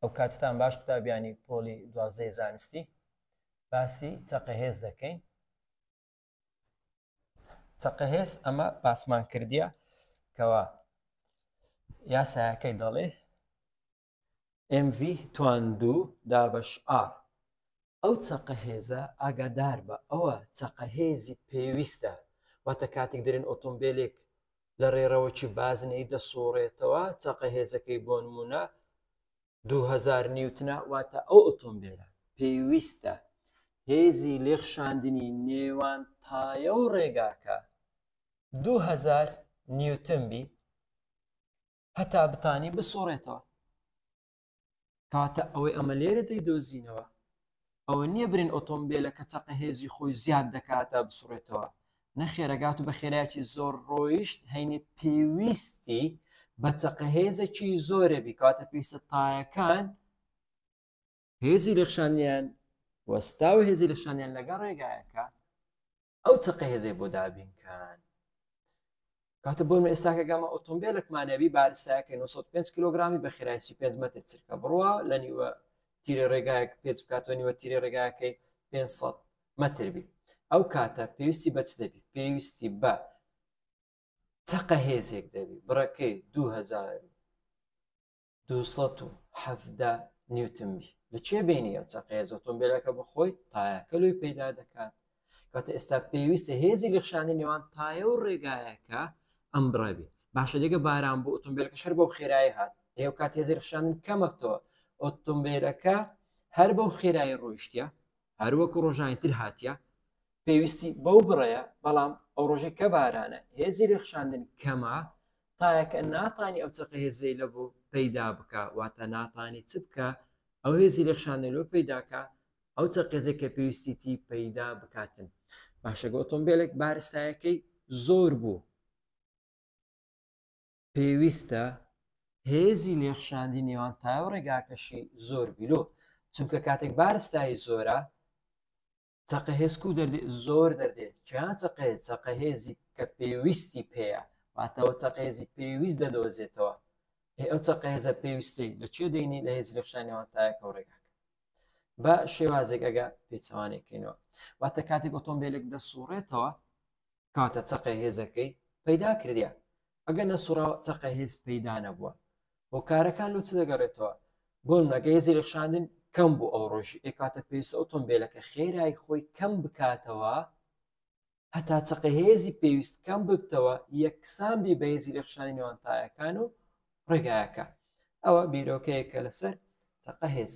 ئەو کاتتان باش قوتابیانی پۆلی دوازدەی زانستی باسی چەقە هێز دەکەین چەقە هێز ئەمە باسمان کردیە کەوا یاسایەکەی دەڵێ MV توان دوو دابەش R ئەو چەقە هێزە ئاگادار بە ئەوە چەقە هێزی پێویستە واتە کاتێک دەرێن ئۆتۆمبیلێک لە ڕێڕەوەکی بازنەی دەسوڕێتەوە چەقە هێزەکەی بۆ نمونە 2000 نیوتنە واتە ئەو ئۆتۆمبیلە پێویستە هێزی لێخشاندنی نێوان تایە و ڕێگاکە 2000 نیوتن بی هەتا بتانی بسوڕێتەوە کەواتە ئەوەی ئەمە لێرە دەیدۆزینەوە ئەوە نییە برین ئۆتۆمبیلەکە چەقە هێزی خۆی زیاد دەکات تا بسوڕێتەوە نەخێرەگات و بە خێرایەکی زۆر ڕۆیشت هەینی پێویستی بە چەقە هێزێکی زۆرە بی کاتە پێویستە تایەکان هێزی لێخشانیان وەستا و هێزی لەشانیان لەگەڵ ڕێگایەکە ئەو چەقە هێزەی بۆ دابینکان کاتە بۆ ئێستاکە گەمە ئۆتۆمبیلێکمانەبی بارستایەکە 905 کیلوگرامی بە خێرای 35 متر چرکە بڕوا لە نیوە تیرە ڕێگایەک پێچ بکاتەوە نیوە تیرە ڕێگاکەی 500 متر بی ئەو کاتە پێویستی بە چ دەبی پێویستی بە چەقە هێزێک دەبی بڕەکەی 2000 217 نیوتن بی لە چێ بینی ئەو چەقە هێز ئۆتۆمبیلەکە بەخۆی تایەکە لۆی پەیدا دەکات کاتە ئێستا پێویستە هێزی لێخشانی نێوان تایە و ڕێگایەکە ئەم بڕەبی باشە دێگە باران بۆ ئۆتۆمبیلەکە هەر بەو خێرایی هات ئێو کات هێزی لێخشاندن کەمەکەوە ئۆتۆمبیلەکە هەر بەو خێرایی ڕۆیشتە هەروەکو ڕۆژانی تر هاتیە پێویستی بەو بڕەیە بەڵام ئەو ڕۆژەی کە بارانە هێزی لێخشاندن کەمە تایەکە ناتانی ئەو چەقە هێزەی لە بۆ پەیدا بکە واتە ناتانی چ بکە ئەو هێزی لێخشاندن لۆ پەیداکە ئەو چەقێزێک کە پێویستیتی پەیدا بکاتن باشەگە ئۆتۆمبیلێک بارستایەکەی زۆر بوو پێویستە هێزی لێخشاندی نێوان تایە و ڕێگاکەشی زۆر بیلۆ چونکە کاتێک بارستایی زۆرە چەقە هێز کو دەردێ زۆر دەردێ کیان چەقە هێز چەقە هێزی کە پێویستی پێیە واتەوە چەقە هێزی پێویست دەدۆزێتەوە ئێ ئەو چەقە هێزە پێویستی لە چێ دەینی لە هێزی لەخشانەوە تایەکە و ڕێگاکە بە شێوازێک ئەگە پێچەوانێکەکەینەوە واتە کاتێک ئۆتۆمبیلێک دەسوڕێتەوە کاتە چەقە هێزەکەی پەیدا کردیا ئەگەر نەسوڕاوە چەقە هێز پەیدا نەبووە هۆکارەکان لۆ چ دەگەڕێتەوە بۆ نمونە هێزی لێخشاندن کەم بوو ئەو ڕۆژی ئێکاتە پێویستە ئۆتۆمبیلەکە خێرای خۆی کەم بکاتەوە هەتا چەقە هێزی پێویست کەم ببتەوە یەکسان بی بە هێزی لێخشانی نێوان تایەکان و ڕێگایەکە ئەوە بیرۆکەیەکە لەسەر چەقە هێز.